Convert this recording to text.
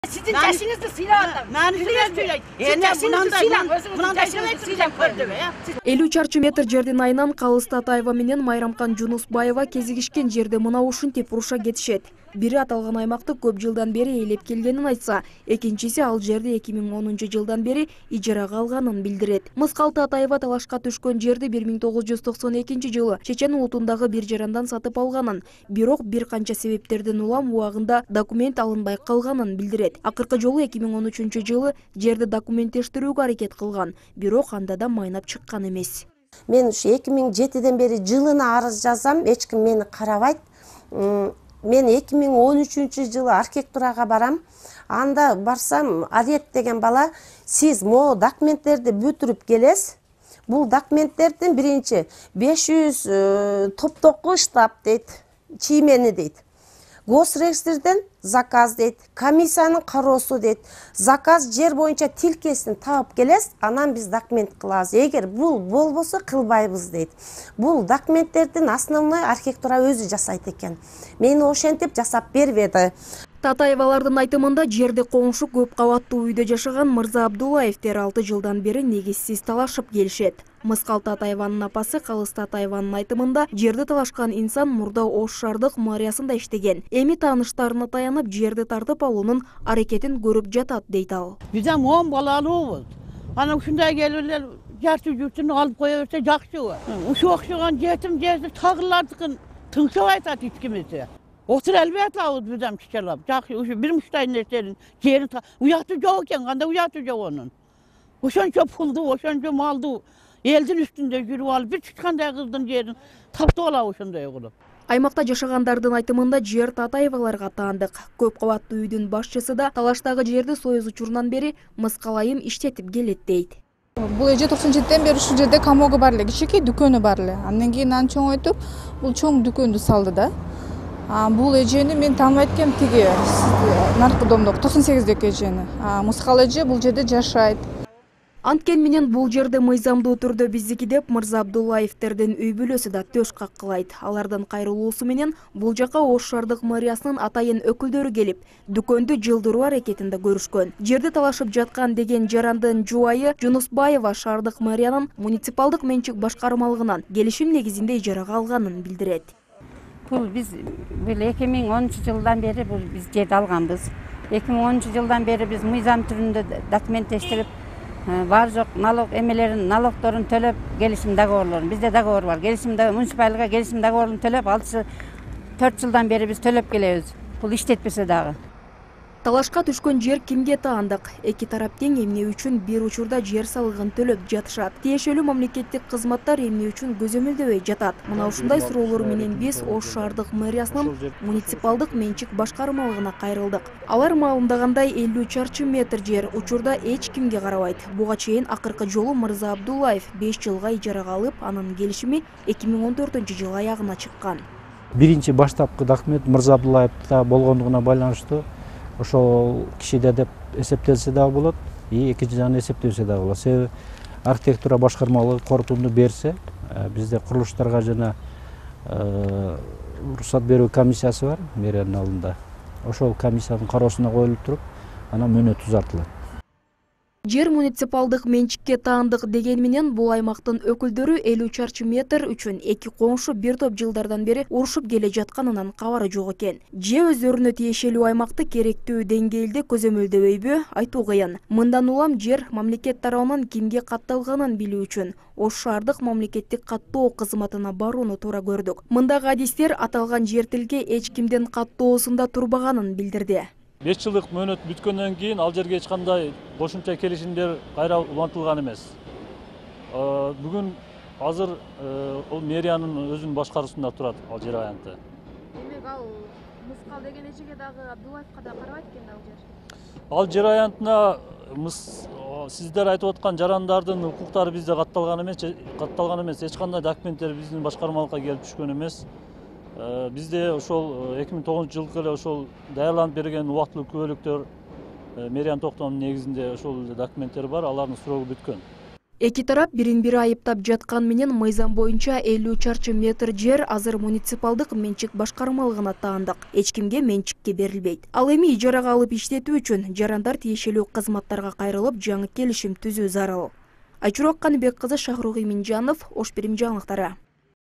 Sizin yaşınızı silahla. Элүү чарчы метр жердин айынан Калыста Атаева менен Майрамкан Жунусбаева кезигишкен жерде мына ушинтип уруша кетишет. Бири аталган аймакты көп жылдан бери ээлеп келгенин айтса, экинчиси ал жерди 2010 жылдан бери ижарага алганын билдирет. Мыскалты Атаева талашка түшкөн жерди 1992 жылы Чечен улутундагы бир жарандан сатып алганын, бирок бир канча себептерден улам убагында документ алынбай калганын билдирет. Акыркы жолу 2013 жылы жерди документтештирүүгө аракет кылган, бирок анда да майнап чыккан эмес. Мен ушу 2007-ден бери жылына арыз жазам, эч ким мени карабайт. Мен 2013 жылы архитектурага барам. Анда барсам, Арет деген бала, сиз могу документтерди бүтүрүп келесиз. Бул документтердин биринчи 500 топтогу штаб дейт, чиймени дейт. Госрегистрден заказ дейт, комиссиянын кароосу дейт. Заказ жер боюнча тилкесин таап келесиз, анан биз документ кылабыз. Эгер бул болбосо кылбайбыз дейт. Бул документтердин основной архитектура өзү жасайт экен. Мени ошентип жасап бербеди. Татаевалардын айтымында жерде коңшу көп кабаттуу үйдө жашаган Мырза Абдуллаевтер 6 жылдан бери негизсиз талашып келишет. Мыскалты Атаеванын апасы Калыста Атаеванын айтымында жерди талашкан инсан мурда Ош шаардык мэриясында иштеген. Эми тааныштарына таянып жерди тартып алуунун аракетин көрүп жатат дейт ал. Бизден 10 балалуубуз. Ана ушундай келип эле жарты журтун алып кое берсе жакшы. Ушу окшогон жетим жерди тагырлардыкын тыңшап айтат эч кимиси. Отур элбет алабыз бизден чычалап. Жакшы, ушу бир муштай нерсенин жерин уяты жок экен, кандай уяты жок онун. Ошончо пулду, ошончо малду элдин үстүндө жүрүп алып, бир чычкандай кыздын жерин таптып алабы ошондой кылып. Аймакта жашагандардын айтымында жер Татаеваларга таандык. Көп кабаттуу үйдүн башчысы да талаштагы жерди союз учурунан бери мыскалайым иштетип келет дейт. Бул эже 97-ден бери ушул жерде камоого бар эле, кичинекей дүкөнү бар эле. Андан кийин аны чоңойтуп, бул чоң дүкөндү салды да. Бул эжени мен тааныбайт экенмин, тиги наркодомдогу 98-деги эжени. Мыскал эже бул жерде жашайт. Анткен менен бул жерде мыйзамдуу түрдө биздики деп Мырза Абдуллаевтердин үй бүлөсү да төш каккылайт. Алардын кайрылуусу менен бул жака Ош шаардык мэриясынын атайын өкүлдөрү келип, дүкөндү жылдыруу аракетинде көрүшкөн. Жерди талашып жаткан деген жарандын жубайы Жунусбаева шаардык мэриянын муниципалдык менчик башкармалыгынан келишим негизинде ижарага алганын билдирет. Бул биз 2010 жылдан бери биз жерди алганбыз. 2010 жылдан бери биз мыйзам түрүндө документтештирип, бар жок налог эмелерин, налогдорун төлөп, келишим договорлорун, бизде договор бар. Келишим муниципалга келишим договорун төлөп, 4 жылдан бери биз төлөп келебиз. Бул иштетпесе дагы. Талашка түшкөн жер кимге таандык? Эки тарап тең эмне үчүн бир учурда жер салыгын төлөп жатышат? Тиешелүү мамлекеттик кызматтар эмне үчүн көзөмөлдөбөй жатат? Мына ушундай суроолор менен биз Ош шаардык мэриясынын муниципалдык менчик башкармалыгына кайрылдык. Алар маалымдагандай 50 чарчы метр жер учурда эч кимге карабайт. Буга чейин акыркы жолу Мырза Абдуллаев 5 жылга ижарага алып, анын келишими 2014-жылы аягына чыккан. Биринчи баштапкы документ Мырза Абдуллаевда болгондугуна байланыштуу ошол кишиде деп эсептелсе дагы болот, экинчи жагынан эсептебесе дагы болот. Себеби архитектура башкармалыгы корутунду берсе, бизде курулуштарга жана уруксат берүү комиссиясы бар мэриянын алдында. Ошол комиссиянын кароосуна коюлуп туруп, анан мөөнөт узартылат. Жер муниципалдык менчикке таандык деген менен бул аймактын өкүлдөрү 50 чарчы метр үчүн эки коңшу бир топ жылдардан бери урушуп келе жатканынан кабары жок экен. Же өздөрүнө тиешелүү аймакты керектүү деңгээлде көзөмөлдөбөйбү, айтуу кыйын. Мындан улам жер мамлекет тарабынан кимге катталганын билүү үчүн Ош шаардык мамлекеттик каттоо кызматына барууну туура көрдүк. Мындагы адистер аталган жер тилге эч кимдин каттоосунда турбаганын билдирди. 5 жылдык мөөнөт бүткөндөн кийин ал жерге эч кандай кошумча келишимдер кайра улантылган эмес. Бүгүн азыр ол мэриянын өзүнүн башкаруусунда турат ал жер аянты. Демек ал мыскал деген эжеге дагы Абдуллаевка да карабайт экен ал жер. Ал жер аянтына сиздер айтып аткан жарандардын укуктары бизде катталган эмес, эч кандай документтер биздин башкармалыкка келип түшкөн эмес. Бизде ошол 2009 жылкы эле ошол даярданып берген убактылуу күбөлүктөр мэриянын токтомунун негизинде ошол документтер бар, алардын срогу бүткөн. Эки тарап бирин бири айыптап жаткан менен мыйзам боюнча 50 чарчы метр жер азыр муниципалдык менчик башкармалыгына таандык. Эч кимге менчикке берилбейт. Ал эми ижарага алып иштетүү үчүн жарандар тиешелүү кызматтарга кайрылып, жаңы келишим түзүү зарыл. Айчурок Каныбек кызы, Шахрук Иминжанов, Ош Бирим жаңылыктары.